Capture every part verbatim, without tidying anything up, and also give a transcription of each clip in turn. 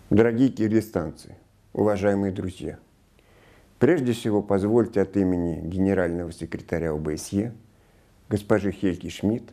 Дорогие киргизстанцы, уважаемые друзья, прежде всего позвольте от имени генерального секретаря О Б С Е, госпожи Хельги Шмидт,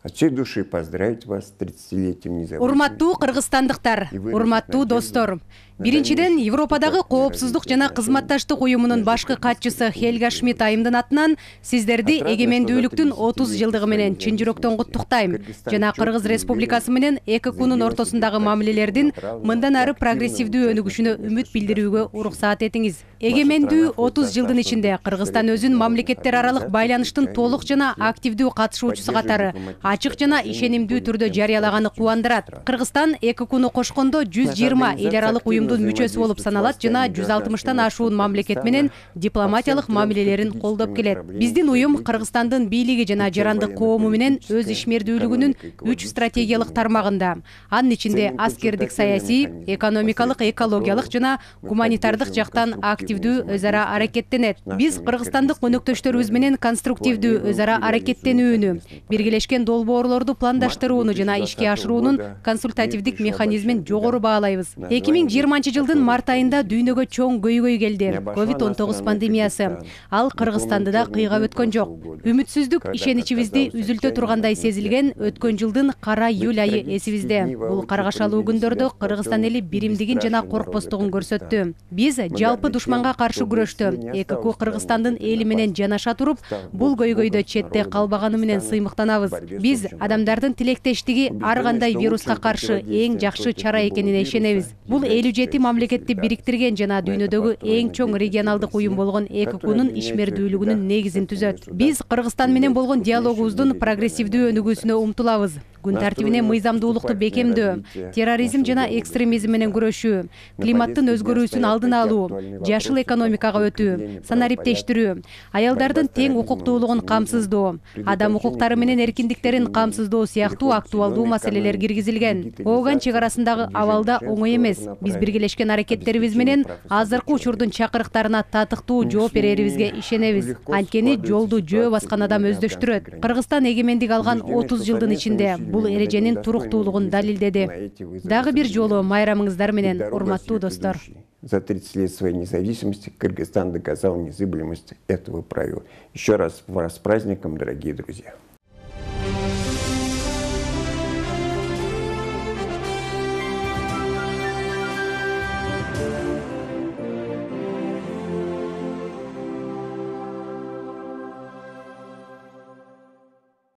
от всей души поздравить вас с тридцатилетием независимости. Урматтуу кыргызстандыктар, урматтуу достор. Биринчиден, Европадагы коопсуздук жана кызматташтык уюмунун башкы катчысы Хельга Шмидт айымдын атынан сиздерди эгемендүүлүктүн отуз жылдыгы менен чын жүрөктөн куттуктайм жана Кыргыз Республикасы менен Э К Кунун ортосундагы мамилелердин мындан ары прогрессивдүү өнүгүшүнө үмүт билдирүүгө уруксаат этиңиз. Эгемендүү отуз жылдын ичинде Кыргызстан өзүн мамлекеттер аралык байланыштын толук жана активдүү катышуучусу катары ачык жана ишенимдүү түрдө жарыялаганы кубандырат. Кыргызстан Э К Куну кошкондо жүз жыйырма эл аралык уюмдун мүчөсү болуп саналат жана жүз алтымыштан ашуун мамлекет менен дипломатиялык мамилелерин колдоп келет. Биздин уюм Кыргызстандын бийлиги жана жарандык коому менен өз ишмердүүлүгүнүн үч стратегиялык тармагында, анын ичинде аскердик, саясий, экономикалык, экологиялык жана гуманитардык жактан активдүү өз ара аракеттенет. Биз кыргызстандык өнөктөштөрүбүз менен конструктивдүү өз ара аракеттенүүнү, биргелешкен долбоорлорду пландаштырууну жана ишке ашыруунун консультативдик механизмин жогору баалайбыз. эки миң жыйырманчы жылдын март айында дүйнөгө чоң көйгөй келди — ковид он тогуз пандемиясы. Ал Кыргызстанды да кыйгап өткөн жок. Үмүтсүздүк ишеничибизди үзүлтө тургандай сезилген өткөн жылдын кара июль айы эсибизде. Бул каргашалуу күндөрдө Кыргызстан эли биримдигин жана коркпостугун көрсөттү. Биз жалпы душманга каршы күрөштө Э К Ку Кыргызстандын эли менен жанаша туруп, бул көйгөйдө четте калбаганы менен сыймыктанабыз. Биз адамдардын тилектештиги ар кандай вируска каршы эң жакшы чара экенине ишенебиз. Бул элүү жети мамлекетти бириктирген жана дүйнөдөгү эң чоң регионалдык уюм болгон Э К Кунун ишмердүүлүгүнүн негизин түзөт. Биз Кыргызстан менен болгон диалогубуздун прогрессивдүү өнүгүүсүнө умтулабыз. Күн тартибине мыйзамдуулукту бекемдөө, терроризм жана экстремизм менен күрөшүү, климаттын өзгөрүүсүн алдын алуу, жашыл экономикага өтүү, санариптештирүү, аялдардын тең укуктуулугун камсыздоо, адам укуктары менен эркиндиктерин камсыздоо сыяктуу актуалдуу маселелер киргизилген. Ооган чек арасындагы абал да оңой эмес. Биз биргелешкен аракеттерибиз менен азыркы учурдун чакырыктарына татыктуу жооп берерибизге ишенебиз. Анткени жолду жөө баскан адам өздөштүрөт. Кыргызстан эгемендик алган отуз жылдын ичинде бул эреженин туруктуулугун далилдеди. Дагы бир жолу майрамыңыздар менен, урматтуу достор. За тридцать лет своей независимости Кыргызстан доказал незыблемость этого правила. Еще раз вас с праздником, дорогие друзья.